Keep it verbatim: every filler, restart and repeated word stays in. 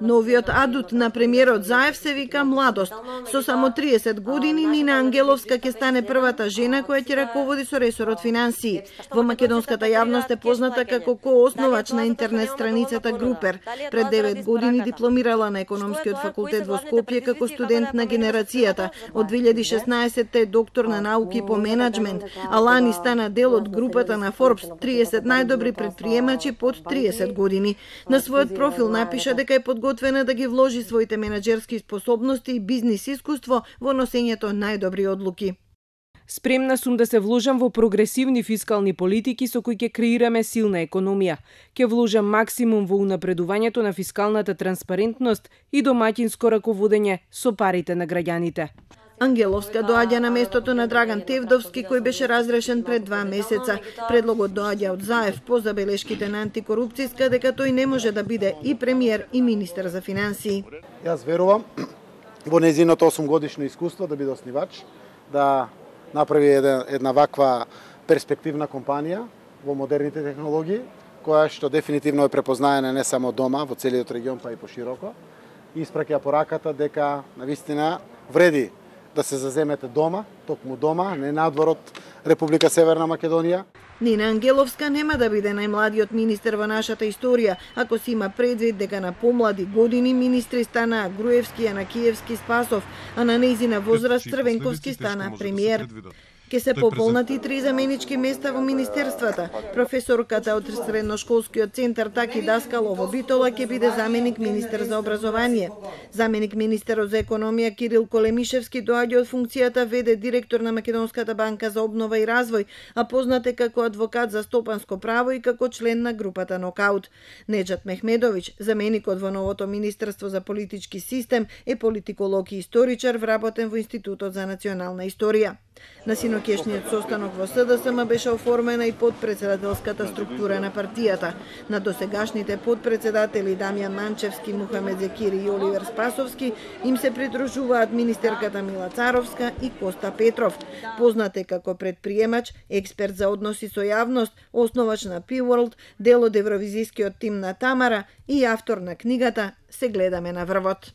Новиот адут на премиерот Заев се вика младост. Со само триесет години Нина Ангеловска ќе стане првата жена која ќе раководи со ресорот финансии. Во македонската јавност е позната како коосновач на интернет страницата Групер. Пред девет години дипломирала на економскиот факултет во Скопје како студент на генерацијата. Од две илјади и шеснаесетта е доктор на науки по менаџмент, а лани стана дел од групата на Forbes триесет најдобри предприемачи под триесет години. На својот профил напиша дека е подготвена да ги вложи своите менаџерски способности и бизнис искуство во носењето најдобри одлуки. Спремна сум да се вложам во прогресивни фискални политики со кои ќе креираме силна економија. Ќе вложам максимум во унапредувањето на фискалната транспарентност и домаќинско раководење со парите на граѓаните. Ангеловска доаѓа на местото на Драган Тевдовски, кој беше разрешен пред два месеца. Предлогот доаѓа од Заев по забелешките на антикорупцијска дека тој не може да биде и премиер и министер за финансии. Јас верувам во незиното осум годишно искуство да биде оснивач, да направи една, една ваква перспективна компанија во модерните технологии, која што дефинитивно е препознаена не само дома, во целиот регион, па и пошироко. И испраќа пораката дека навистина вреди да се заземете дома, токму дома, не надвор од Република Северна Македонија. Нина Ангеловска нема да биде најмладиот министер во нашата историја, ако се има предвид дека на помлади години министри стана Груевски, Јанакиевски, Спасов, а на нејзина возраст Црвенковски стана премиер. Ке се пополнати три заменички места во министерствата. Професорката од средношколскиот центар Таки Даскалов во Битола ќе биде заменик министер за образование. Заменик министерот за економија Кирил Колемишевски доаѓа од функцијата веде директор на Македонската банка за обнова и развој, а познат е како адвокат за стопанско право и како член на групата Нокаут. Неџат Мехмедовиќ, заменикот во новото министерство за политички систем, е политиколог и историчар вработен во Институтот за национална историја. На синокешниот состанок во СДСМ беше оформена и подпредседателската структура на партијата. На досегашните подпредседатели Дамјан Манчевски, Мухамед Зекири и Оливер Спасовски им се придружуваат министерката Мила Царовска и Коста Петров. Познат е како предприемач, експерт за односи со јавност, основач на P-World, дел од евровизискиот тим на Тамара и автор на книгата Се гледаме на врвот.